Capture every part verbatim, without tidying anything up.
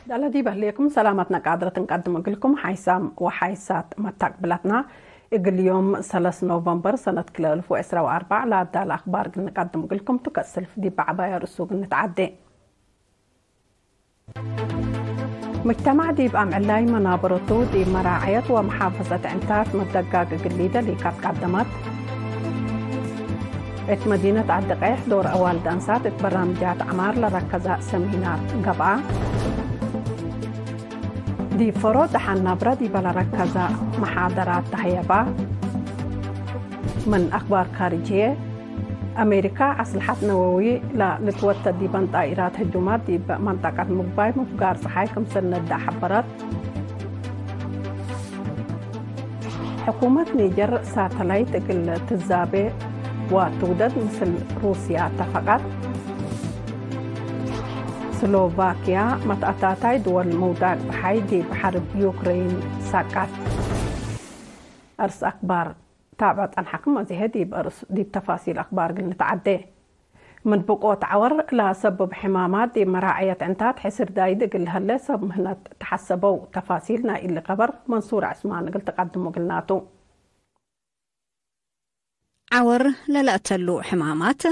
ዳለ ዲብ ህሌኩም ሰላማትና ቃድረት እንቀድም እግልኩም። ሓይሳም ወሓይሳት መታቅብላትና፣ እግል ዮም ሰለስ ኖቨምበር ሰነት ክልኤ እልፍ ወዕስራ ወአርበዕ ለአዳለ አክባር እግል ንቀድም እግልኩም ቱ። ከእስልፍ ዲብ ዐባይ አርእሱ እግል ንትዓዴ። ሙጅተማዕ ዲብ አምዕላይ መናበረቱ ዲብ መራዐየት ወመሓፈዘት ዕንታት መደጋግ እግል ሊደሊ ካት ቀደመት። እት መዲነት ዐዲ ቀይሕ ዶር አዋልድ አንሳት እት በራምጃት ዐማር ለረከዘ ሰሚናር ገብአ። ዲብ ፈሮ ደሓን ናብረ ዲበ ለረከዘ መሓደራት ተሀየባ። ምን አክባር ካርጅየ፣ አሜሪካ አስልሐት ነወዊ ለልትወተድ ዲበን ጣኢራት ህጁማት ዲብ መንጠቀት ምግባይ ምፍጋር ጸሓይ ክምሰል ነዳ ሐበረት። ሕኩመት ኒጀር ሳተላይት እግል ትዛቤ ወትውደድ ምስል ሩስያ ተፈቀት። ስሎቫክያ መትአታታይ ድወል ምውዳቅ ጸሓይ ዲብ ሐርብ ዩክሬን ሳቃት። አርስ አክባር ታብዕ ጸንሐክም። አዜሀ ዲብ አርስ፣ ዲብ ተፋሲል አክባር እግል ንትዓዴ። ምን ብቆት ዐወር ለሰብብ ሕማማት ዲብ መራዐየት ዕንታት ሕስር ዳይድ እግል ለሀለ ሰብ ምህነት ተሐሰበው። ተፋሲል ናይ እሊ ከበር መንሱር ዕስማን እግል ትቀድሙ እግልና ቱ። ዐወር ለለአተሉ ሕማማት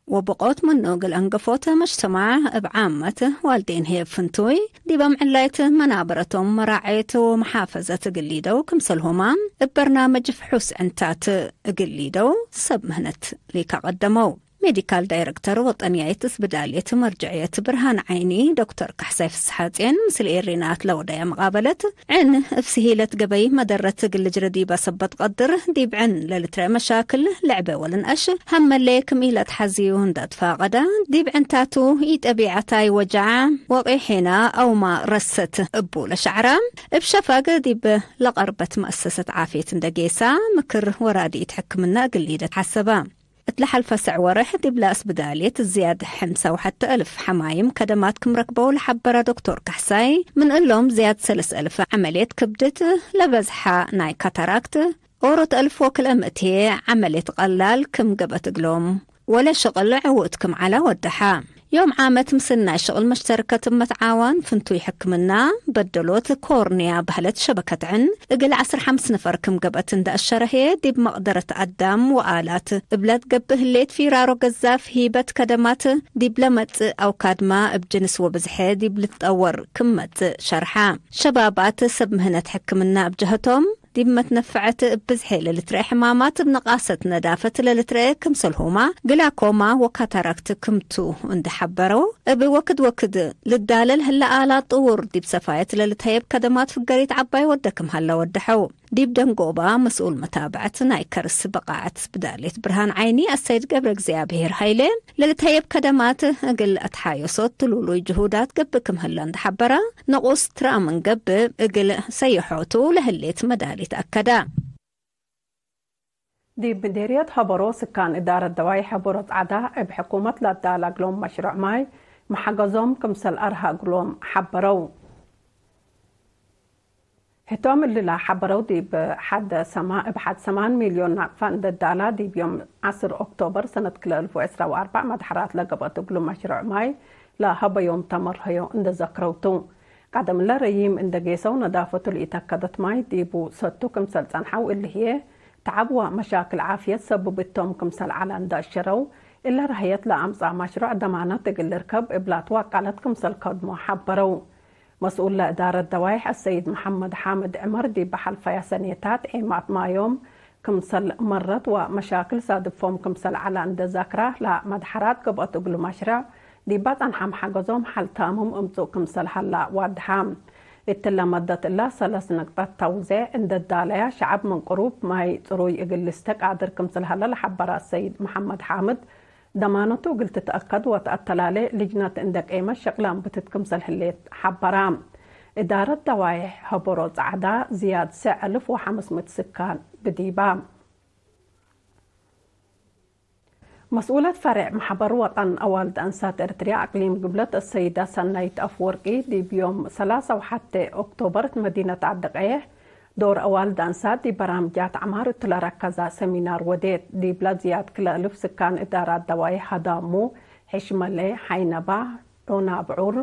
ወብቆት ምኑ እግል አንገፎት መጅተማዕ እብ ዓመት ዋልዴን ህዬ ፍንቱይ ዲብ አምዕላይት መናበረቶም መራዐየት ወመሓፈዘት እግል ሊደው ክምሰልሁማ እብ በርናመጅ ፍሑስ ዕንታት እግል ሊደው ሰብ ምህነት ሊከቀደመው። ሜዲካል ዳይረክተር ወጠንያይት ስብዳልየት መርጀዕየት ብርሃን ዓይኒ ዶክተር ካሕሳይ ፍስሓጽየን ምስል ኤሪናት ለወደየ መቃበለት፣ ዕን እብ ስሂለት ገበይ መደረት እግል ልጅረ ዲበ ሰበት ቀድር፣ ዲብ ዕን ለልትረኤ መሻክል ለዕበ ወልንአሽ ሀመሌ ክም ኢለትሐዝዩ እንዳ ትፋቀደ፣ ዲብ ዕንታቱ ኢጠቢዐታይ ወጃዕ ወቂሒና አውማ ረሰት እቡ ለሸዕራ፣ እብ ሸፋግ ዲብ ለቀርበት መአሰሰት ዓፍየት እንደ ጌሳ፣ ምክር ወራዲት ሕክምና እግል ሊደ ተሐሰበ። እት ለሐልፈ ሰዕ ወርሕ ዲብለ እስብዳልየት ዝያድ ሐምሳ ወሐተ እልፍ ሐማይም ከደማት ክም ረክበው ለሐበረ ዶክቶር ካሕሳይ፣ ምን እሎም ዝያድ ሰለስ እልፍ ዐመልየት ክብድት፣ ለበዝሐ ናይ ካታራክት፣ ኦሮት እልፍ ወክልኤ ምእት ዐመልየት ቀላል ክም ገብአት እግሎም፣ ወለ ሽቅል ዕዉት ክም ዐለ ወደሐ። ዮም ዓመት ምስል ናይ ሽቅል መሽተርከት እብ መትዓዋን ፍንቱይ ሕክምና በደሎት ኮርንያ በህለት ሸበከት ዕን እግል ዐስር ሐምስ ነፈር ክም ገብአት እንደ አሸረ ህዬ፣ ዲብ መቅደረት አዳም ወአላት እብለ ትገብእ ህሌት ፊራሮ ገዛፍ ሂበት ከደማት ዲብ ለመጽእ አውካድማ እብ ጅንስ ወብዝሐ ዲብ ልትጠወር ክም መጽእ ሸርሐ። ሸባባት ሰብ ምህነት ሕክምና እብ ጀሀቶም፣ ዲብ መትነፈዐት እብ ብዝሐ ለልትረአ ሕማማት እብ ነቃሰት ነዳፈት ለልትረአ ክምሰልሁማ ግላኮማ ወካታራክት ክምቱ እንዴ ሐበረው፣ እብ ወክድ ወክድ ልዳለል ህለ አላት ጥውር ዲብ ሰፋየት ለልትሀየብ ከደማት ፍገሪት ዐባይ ወደ ክም ሀለ ወደሐው። ዲብ ደንጎባ መስኡል መታብዐት ናይ ከርስ በቃዐት ስብዳሌት ብርሃን ዓይኒ አሰይድ ገብረ እግዚኣብሔር ሀይሌ፣ ለልትሀየብ ከደማት እግል አትሓየሶት ትሉሉይ ጅሁዳት ገብእ ክም ህለ እንዴ ሐበረ፣ ንቁስ ትረአ ምን ገብእ እግል ሰይሖቱ ለህሌት መዳሊት አከደ። ዲብ ምዴርየት ሀበሮ ስካን እዳረት ደዋይ ሀበሮ ጸዕዳ እብ ሕኩመት ለአዳለ እግሎም መሽሮዕ ማይ መሐገዞም ክምሰል አርሀ እግሎም ሐበረው። ህቶም እሊ ለሐበረው ዲብ ሐድ ሰማ-፣ እብ ሐድ ሰማን ሚልዮን ናቅፋ እንደ ዳላ ዲብ ዮም ዐስር ኦክቶበር ሰነት ክልኤ እልፍ ወዕስራ ወአርበዕ መድሐራት ለገብአት እግሉ መሽሮዕ ማይ ለሀበዮም ተመርሀዮ እንደ ዘክረው ቱ። ቀደምለ ረዪም እንደ ጌሰው ነዳፈቱ ለኢተከደት ማይ ዲቡ ሰቱ ክምሰል ጸንሐው እሊ ህዬ ተዐብ ወመሻክል ዓፍየት ሰብብ እቶም ክምሰል ዐለ እንደ አሸረው፣ እለ ረሀየት ለአምጽአ መሽሮዕ ደማነት እግል ልርከብ እብላ ትዋቀለት ክምሰል ከድሞ ሐበረው። መስኡል ለእዳረት ደዋይሕ አሰይድ መሐመድ ሓምድ ዕመር ዲብ ሐልፈያ ሰኔታት ዔማት ማዮም ክምሰል መረት ወመሻክል ሳድፎም ክምሰል ዐለ እንደ ዛክራ፣ ለመድሐራት ገብአት እግሉ መሽረዕ ዲባ ጸንሐም ሐገዞም ሐል ታምም እምጹእ ክምሰል ሀላ ዋድሐ። እትለ መደት እላ ሰለስ ነቅጠት ተውዜዕ እንደ ዳለያ ሸዐብ ምን ቅሩብ ማይ ጽሩይ እግል ልስተ ቃድር ክምሰል ሀለ ለሐበረ አሰይድ መሐመድ ሓምድ፣ ደማነቱ እግል ትትአከድ ወተአተላሌ ልጅነት እንደ ቄመት ሸቅለ አንብትት ክምሰል ህሌት ሐበራ። እዳረት ደዋይሕ ሀበሮ ጸዕዳ ዝያድ ሰዕ እልፍ ወሐምስ ምእት ስካን ብዲባ። መስኡለት ፈሬዕ መሕበር ወጠን አዋልድ አንሳት ኤርትርያ አቅሊም ግብለት አሰይዳ ሰናይት አፍወርቂ ዲብ ዮም ሰላሳ ወሐቴ ኦክቶበር እት መዲነት ዐዲ ቀይሕ ዶር አዋልድ አንሳት ዲብ በራምጃት ዐማር እቱ ለረከዛ ሰሚናር ወዴት። ዲብለ ዝያድ ክለ እልፍ ስካን እዳራት ደዋይሕ ሀዳሙ፣ ሕሽመሌ፣ ሐይነባ፣ ዑናብዑር፣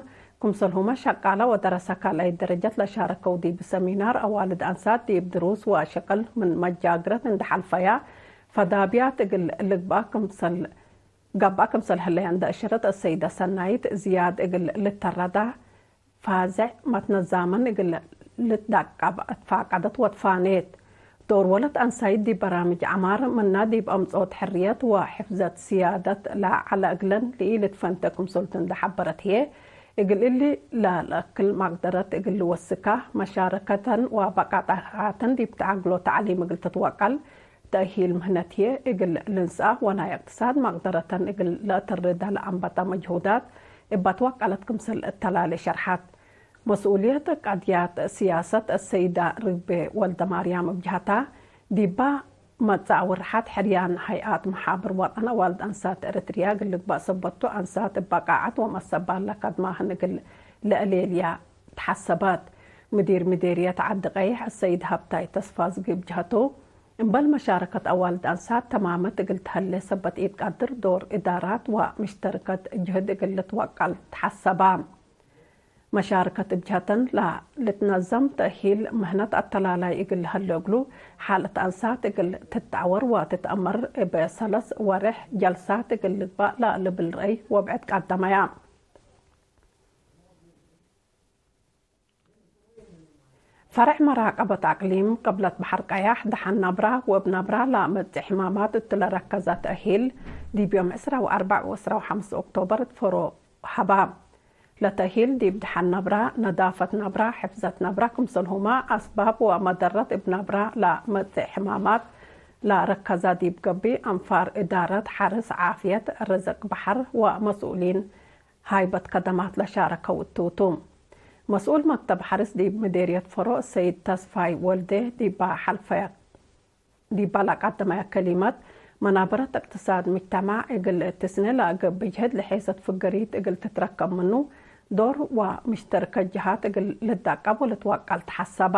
ክምሰልሁመ ሸቃለ ወደረሰ ካልኣይ ደረጀት ለሻረከው ዲብ ሰሚናር አዋልድ አንሳት ዲብ ድሩስ ወሸቅል ምን መጃግረት እንዴ ሐልፈያ ፈዳብያት እግል ልግበእ ክምሰል ገብአ ክምሰል ህለየ እንዴ አሸረት፣ አሰይደ ሰናይት ዝያድ እግል ልተረዳ ፋዘዕ መትነዛመን እግል ልትዳቀብ አትፋቀደት ወትፋኔት። ዶር ወለት አንሳይት ዲብ በራምጅ ዐማር፣ ምና ዲብ አምጽኦት ሕርየት ወሕፍዘት ስያደት ለዐለ እግለን ለኢልትፈንተ ክምሰልቱ እንዴ ሐበረት ህዬ፣ እግል እሊ ለለአክል መቅደረት እግል ልወስካ፣ መሻረከተን ወበቃጣታተን ዲብ ተአግሎ ተዕሊም እግል ትትወቀል፣ ተእሂል ምህነት ህዬ እግል ልንስአ ወናይ እቅትሳድ መቅደረተን እግል ለአተርደ ለአንበተ መጅሁዳት እበ ትወቀለት ክምሰል እተላሌ ሸርሐት። መስኡልየት ቀድያት ስያሰት አሰይዳ ርግቤ ወልደማርያም እብ ጀሀታ፣ ዲባ መጽእ አውርሐት ሕርያን ሀይአት መሓብር ወጠን አዋልድ አንሳት ኤረትርያ እግል ልግበእ ሰበት ቱ፣ አንሳት እበ ቃዐት ወመሰባል ለከድማህን እግል ለአሌልያ ተሐሰበት። ምዲር ምዴርየት ዐዲ ቀይሕ አሰይድ ሀብታይ ተስፋዝጊ እብ ጀሀቱ፣ እምበል መሻረከት አዋልድ አንሳት ተማመት እግል ተህሌ ሰበት ኢትቀድር፣ ዶር እዳራት ወምሽተርከት ጅህድ እግል ልትወቀል ተሐሰበ። መሻርከት እብ ጀሀተን ለልትነዘም ተእሂል ምህነት አተላላይ እግል ለሀሌ እግሉ፣ ሓለት አንሳት እግል ትትዐወር ወትትአመር እብ ሰለስ ወሬሕ ጀልሳት እግል ልግበእ ለልብል ረአይ ወብዕድ ቀደመያ። ፈርዕ መራቀበት አቅሊም ቅብለት በሐር ቀያሕ ደሐን ነብራ ወእብ ነብራ ለመጽእ ሕማማት እቱ ለረከዘ ተእሂል፣ ዲብ ዮም ዕስራ ወአርበዕ ወዕስራ ወሐምስ ኦክቶበር እት ፎሮ ሀባ። ለተእሂል ዲብ ደሐን ነብራ፣ ነዳፈት ነብራ፣ ሕፍዘት ነብራ ክምሰልሁመ አስባብ ወመደረት እብ ነብራ ለመጽእ ሕማማት ለረከዘ ዲብ ገብእ አንፋር እዳረት ሐርስ ዓፍየት፣ ርዝቅ በሐር ወመስኡሊን ሃይበት ከደማት ለሻረከው እቱ ቱ። መስኡል መክተብ ሐርስ ዲብ ምዴርየት ፈሮ ሰይድ ተስፋይ ወልዴ ዲባ ሐልፈየ ዲባ ለቀደመየ ከሊመት፣ መናበረት እቅትሳድ ምጅተማዕ እግል ትስኔ ለገብእ ጅህድ ለሔሰት ፍገሪት እግል ትትረከብ ምኑ፣ ዶር ወምሽተርከት ጀሃት እግል ልዳቀብ ወልትወቀል ተሐሰበ።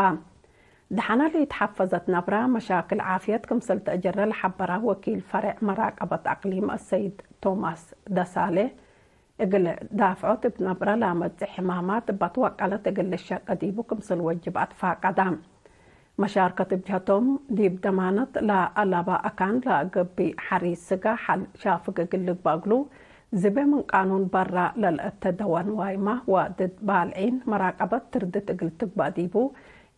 ደሐነ ለኢተሐፈዘት ነብራ መሻክል ዓፍየት ክምሰል ተአጀረ ለሐበረ ወኪል ፈሬዕ መራቀበት አቅሊም አሰይድ ቶማስ ደሳሌ፣ እግል ዳፍዖት እብ ነብረ ለመጽእ ሕማማት እበ ትወቀለት እግል ልሸቄ ዲቡ ክምሰል ወጅብ አትፋቀደ። መሻርከት እብ ጀሀቶም፣ ዲብ ደማነት ለአለበ አካን ለገብእ ሐሪስ ስጋ ሐል ሻፍግ እግል ልግበእ እግሉ፣ ዝቤ ምን ቃኑን በራ ለልአተ ደወ ንዋይመ ወድድ ባልዒን መራቀበት ትርድት እግል ትግበእ ዲቡ፣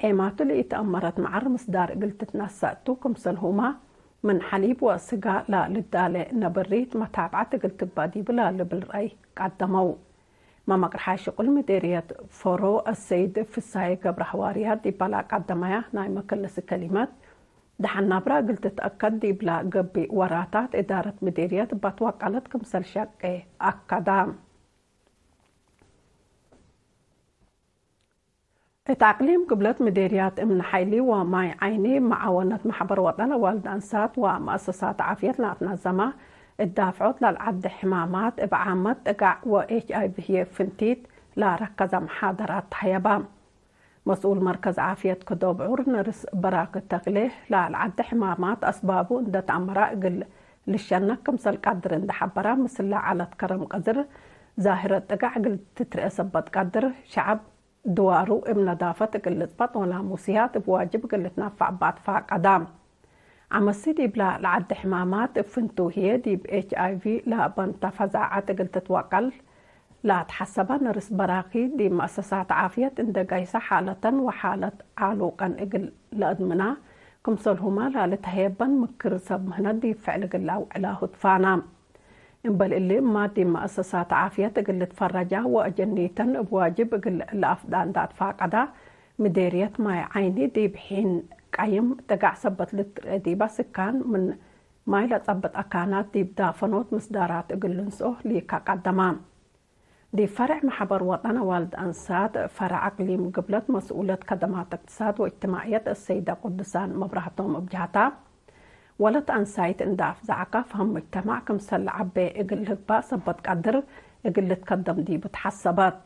ዔማቱ ለኢተአመረት መዐር ምስዳር እግል ትትነሰእ ቱ፣ ክምሰልሁመ ምን ሐሊብ ወስጋ ለልዳሌ ነብሪት መታብዐት እግል ትግበእ ዲቡ ለልብል ረአይ ቀደመው። መመቅርሓይ ሽቁል ምዴርየት ፎሮ አሰይድ ፍሳዬ ገብረሐዋርያት ዲበ ለቀደመያ ናይ መከለሲ ከሊመት፣ ደሐን ናብራ እግል ትትአከድ ዲብለ ገብእ ወራታት እዳረት ምዴርየት እበ ትወቀለት ክምሰል ሸቄ አከደ። እት አቅሊም ግብለት ምዴርያት እምነ ሐይሊ ወማይ ዓይኒ መዓወነት መሕበር ወጠን አዋልድ አንሳት ወመአሰሳት ዓፍየት ለአትናዘመ እት ዳፍዖት ለልዐዴ ሕማማት እብ ዓመት ጥጋዕ ወኤች አይ ቪ ህዬ ፍንቲት ለረከዘ መሓደራት ተሀየበ። መስኡል መርከዝ ዓፍየት ከዶብ ዑር ነርስ በራክ ተክሌ ለልዐዴ ሕማማት አስባቡ እንዴ ተአመረ እግል ልሸነክ ክምሰል ቀድር እንዴ ሐበረ፣ ምስለ ዐለት ከረም ቀድር ዛህረት ጥጋዕ እግል ትትርኤ ሰበት ቀድር ሸዐብ ድዋሩ እብ ነዳፈት እግል ልጽበጥ ወናሙስያት እብ ዋጅብ እግል ልትነፈዕ እበ አትፋቀደ። ዐመሲ ዲብለ ለዐዴ ሕማማት እብ ፍንቱ ህዬ ዲብ ኤች አይ ቪ ለበንተ ፈዛዐት እግል ትትወቀል ለአትሐሰበ ነርስ በራኪ ዲብ መአሰሳት ዓፍየት እንዴ ገይሰ ሓለተን ወሓለት ዓሉቀን እግል ለአድምና ክምሰልሁመ ለልትሀየበን ምክር ሰብ ምህነት ዲብ ፍዕል እግል ለአውዕላሁ ትፋና። እምበል እሊ፣ እማት ዲብ መአሰሳት ዓፍየት እግል ልትፈረጃ ወአጀኒተን እብ ዋጅብ እግል ለአፍዳ እንዴ አትፋቀዳ፣ ምዴርየት ማይ ዓይኒ ዲብ ሒን ቀይም ጥጋዕ ሰበት ልትርኤ ዲበ ስካን ምን ማይ ለጸብጥ አካናት ዲብ ዳፈኖት ምስዳራት እግል ልንስኦ ሊከ ቀደመ። ዲብ ፈርዕ መሕበር ወጠን አዋልድ አንሳት ፈርዕ አቅሊም ግብለት መስኡለት ከደማት እቅትሳድ ወእጅትማዕየት አሰይደ ቅዱሳን መብራህቶም እብ ጀህታ፣ ወለት አንሳይት እንዴ አፍዘዐከ ፈህም ሙጅተማዕ ክምሰል ለዐቤ እግል ልግባእ ሰበት ቀድር እግል ልትከደም ዲቡ ተሐሰበት።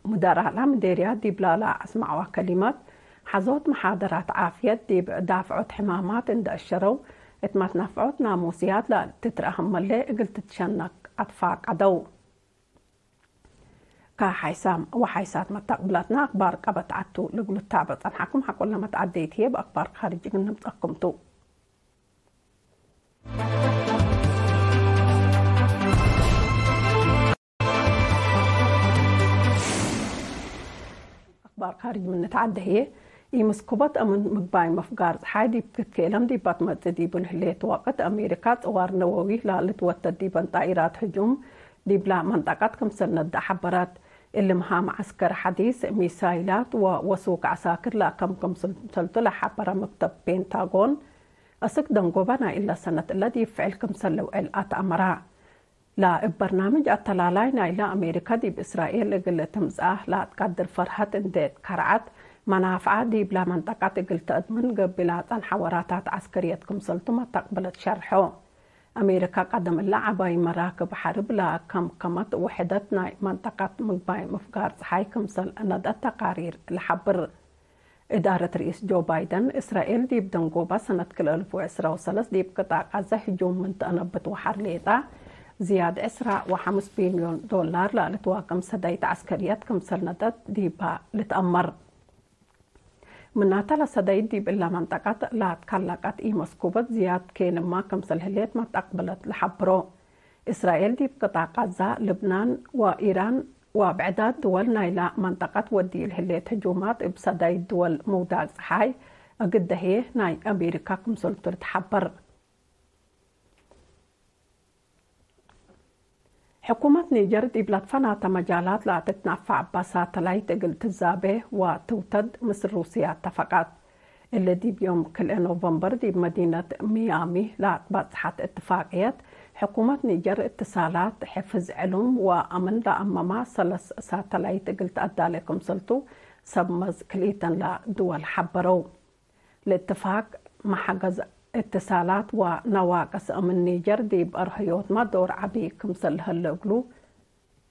ሙደራላ ምዴርያት ዲብላ ለአስመዐዋ ከሊመት፣ ሐዞት መሓደራት ዓፍየት ዲብ ዳፍዖት ሕማማት እንዴ አሸረው፣ እት መትነፍዖት ናሙስያት ለትትረአህም መሌ እግል ትትሸነክ አትፋቀደው። ከሓይሳም ወሓይሳት መተቅብላትና አክባር ቀበት ዐቱ ልግሉ ታበ ጸንሐኩም። ሐቆለ መትዓደይት ህዬ በአክባር ካርጅ እግል ንምጸኩም ቱ። አክባር ካርጅ ምን ንትዓደ ህዬ፣ ኢመስኩበት አምን ምግባይ ምፍጋር ጸሓይ ዲብ ክትኬለም ዲባ ትመጽእ ዲብን ህሌት ወቅት፣ አሜሪካ ጽዋር ነወዊ ላልትወተድ ዲበን ጣኢራት ህጁም ዲብላ መንጠቀት ክምሰል ነዳ ሐበረት። እሊ ምሃም ዐስከር ሐዲስ፣ ሚሳይላት ወወሱክ ዐሳክር ለአከም ክምሰልቱ ለሐበረ መክተብ ፔንታጎን፣ አስክ ደንጎበ ናይ እለ ሰነት እለ ዲብ ፍዕል ክምሰል ልውዕል አትአመረ። ለእብ በርናምጅ አተላላይ ናይለ አሜሪካ ዲብ እስራኤል እግል ትምጽአ ለአትቀድር ፈርሀት እንዴ ትከርዐት፣ መናፍዐ ዲብለ መንጠቀት እግል ተአድምን ገብእ ለጸንሐ ወራታት ዐስከርየት ክምሰልቱ መተቅብለት ሸርሖ። አሜሪካ ቀደም እለ ዐባይ መራክብ ሐርብ ለከምከመት ውሕደት ናይ መንጠቀት ምግባይ ምፍጋር ጸሓይ ክምሰል ነድአት ተቃሪር ለሐብር። እዳረት ርኢስ ጆ ባይደን፣ እስራኤል ዲብ ደንጎበ ሰነት ክልኤ አልፍ ወዕስራ ወሰለስ ዲብ ቅጣዕ ቃዘ ህጁም ምን ተአነብት ወሐር ሌጠ፣ ዝያድ ዕስራ ወሐምስ ቢልዮን ዶላር ለልትዋቅም ሰዳይት ዐስከርየት ክምሰል ነደት ዲባ ልትአመር። ምናተ ለሰዳይት ዲብ እለ መንጠቀት ለአትከለቀት ኢመስኩበት ዝያድ ኬንማ ክምሰል ህሌት መተቅብለት ለሐብሮ። እስራኤል ዲብ ቅጣዕ ቃዛ፣ ልብናን ወኢራን ወብዕዳት ድወል ናይላ መንጠቀት ወዲል ህሌት ህጁማት እብ ሰዳይት ድወል ምውዳቅ ጸሓይ እግል ደህዬ ናይ አሜሪካ ክምሰልቱ ልትሐበር። ሕኩመት ኒጀር ዲብ ለትፈናተ መጃላት ለአትትናፈዕ እበ ሳተላይት እግል ትዛቤ ወትውተድ ምስል ሩስየ አተፈቀት። እሊ ዲብ ዮም ክልኤ ኖቨምበር ዲብ መዲነት ሚያሚ ለአትበጽሐት እትፋቅየት፣ ሕኩመት ኒጀር እትሳላት፣ ሕፍዝ ዕሉም ወአምን ለአመማ ሰለስ ሳተላይት እግል ተአዳሌ ክምሰልቱ ሰብ መዝ ክልኢተን ለድወል ሐበረው። ለእትፋቅ መሐገዝ እትሳላት ወነዋቅስ አምን ኒጀር ዲብ አርህዮትመ ዶር ዐቢ ክምሰል ለሀለ እግሉ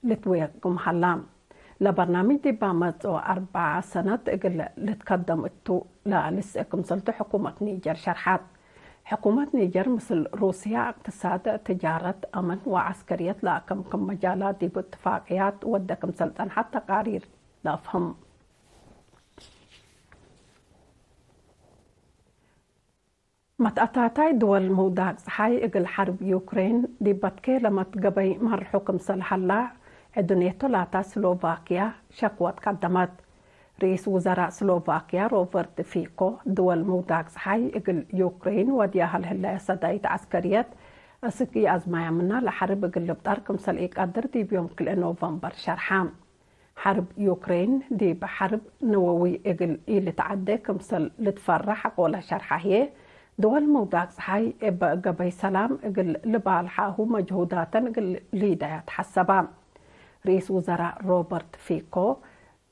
ልትዌቅም ሀላ። ለበርናምጅ ዲብ መጽኦ አርበዐ ሰነት እግል ልትከደም እቱ ለልስእ ክምሰልቱ ሕኩመት ኒጀር ሸርሐት። ሕኩመት ኒጀር ምስል ሩስያ እቅትሳድ፣ ትጃረት፣ አምን ወዐስከርየት ለአከምክም መጃላት ዲብ እትፋቅያት ወደ ክምሰል ጸንሐት ተቃሪር ለአፍህም። መትአታታይ ድወል ምውዳቅ ጸሓይ እግል ሐርብ ዩክሬን ዲብ በትኬ ለመትገበይ መርሑ ክምሰል ሀላ፣ ዕዱ ኔቶ ላታ ስሎቫክያ ሸክወት ቀደመት። ርኢስ ውዘራእ ስሎቫክያ ሮበርት ፊኮ፣ ድወል ምውዳቅ ጸሓይ እግል ዩክሬን ወድያሀ ለህለየ ሰዳይት ዐስከርየት፣ እስክ ኢአዝማያ ምና ለሐርብ እግል ልብጠር ክምሰል ኢቀድር ዲብ ዮም ክልኤ ኖቨምበር ሸርሐ። ሐርብ ዩክሬን ዲብ ሐርብ ነወዊ እግል ኢልትዐዴ ክምሰል ልትፈረሕ ሐቆለ ሸርሐ ህዬ፣ ድወል ምውዳቅ ጸሓይ እበ ገበይ ሰላም እግል ልባልሓሁ መጅሁዳተን እግል ሊደያ ተሐሰባ። ርኢስ ውዘራእ ሮበርት ፊኮ፣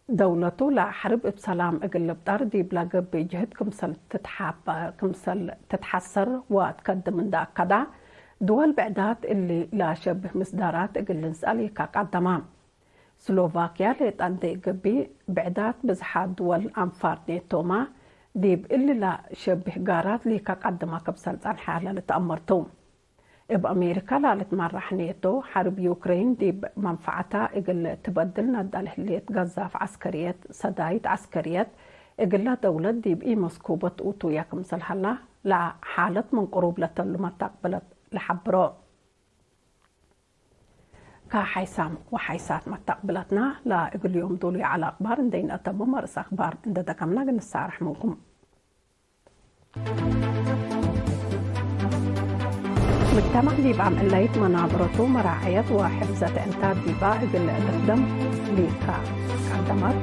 ደውለቱ ለሐርብ እብ ሰላም እግል ልብጠር ዲብለ ገብእ ጅህድ ክምሰል ትትሓበ-፣ ክምሰል ትትሐሰር ወትከድም እንደ አከዳ፣ ድወል ብዕዳት እሊ ለአሸብህ ምስዳራት እግል ልንስአል ኢከ ቀደማ። ስሎቫክያ ሌጠ እንዴ ገብእ፣ ብዕዳት ብዝሓት ድወል አንፋር ኔቶመ ዲብ እሊ ለሸብህ ጋራት ሊከ ቀድመ ክምሰል ጸንሐ ለልትአመር ቱ። እብ አሜሪካ ለልትመራሕ ኔቶ፣ ሐርብ ዩክሬን ዲብ መንፈዐታ እግል ትበድል ነዳ ለህሌት ገዛፍ ዐስከርየት፣ ሰዳይት ዐስከርየት እግለ ደውለት ዲብ ኢመስኩበት ውቱየ ክምሰል ሀላ፣ ለሓለት ምን ቅሩብ ለተሉ መተቅብለት ለሐብሮ። ከሓይሳም ወሓይሳት መተቅብለትና ለእግል ዮም ዶሉይ ዐለ አክባር እንዴ ነአተምም፣ አርእስ አክባር እንዴ ደገምነ እግል ንሳረሕ ምንኩም። ምጅተማዕ ዲብ አምዕለይት መናበረቱ መራዐየት ወሕፍዘት ዕንታት ዲባ እግል ልክደም ሊካ ቀደመት።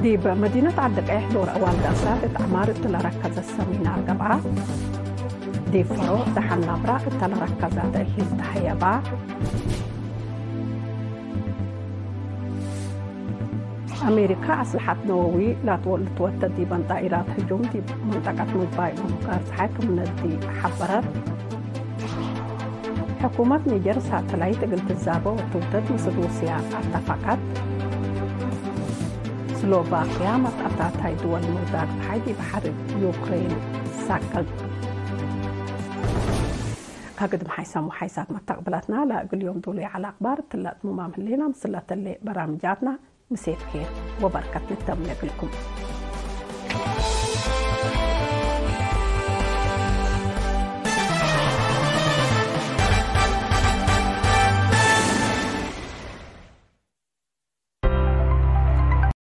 ዲብ መዲነት ዐዲ ቀይሕ ዶር አዋልድ አስራት እት ዐማር እት ለረከዘ ሰሚናር ገብአ። ዲብ ፈሮ ደሐን ናብራ እተ ለረከዘ ተእሂል ተሀየባ። አሜሪካ አስለሐት ነወዊ ላትወ-፣ ልትወተድ ዲበን ጣኢራት ህጁም ዲብ መንጠቀት ምግባይ ምፍጋር ጸሓይ ክም ነዲ ሐበረት። ሕኩመት ኒጀር ሳተላይት እግል ትዛበ ወትውተድ ምስል ሩስያ አተፈቀት። ስሎቫክያ መትአታታይ ድወል ምውዳቅ ጸሓይ ዲብ ሐርብ ዩክሬን ሳቅጥ። ከግድም ሓይሳም ወሓይሳት መተቅብላትና ለእግል ዮም ዶሉይ ዐለ አክባር እትለ አትሙማም ህሌና። ምስለ እተሌ በራምጃትና ምሴት ኬር ወበርከት ንተምኔ እግልኩም።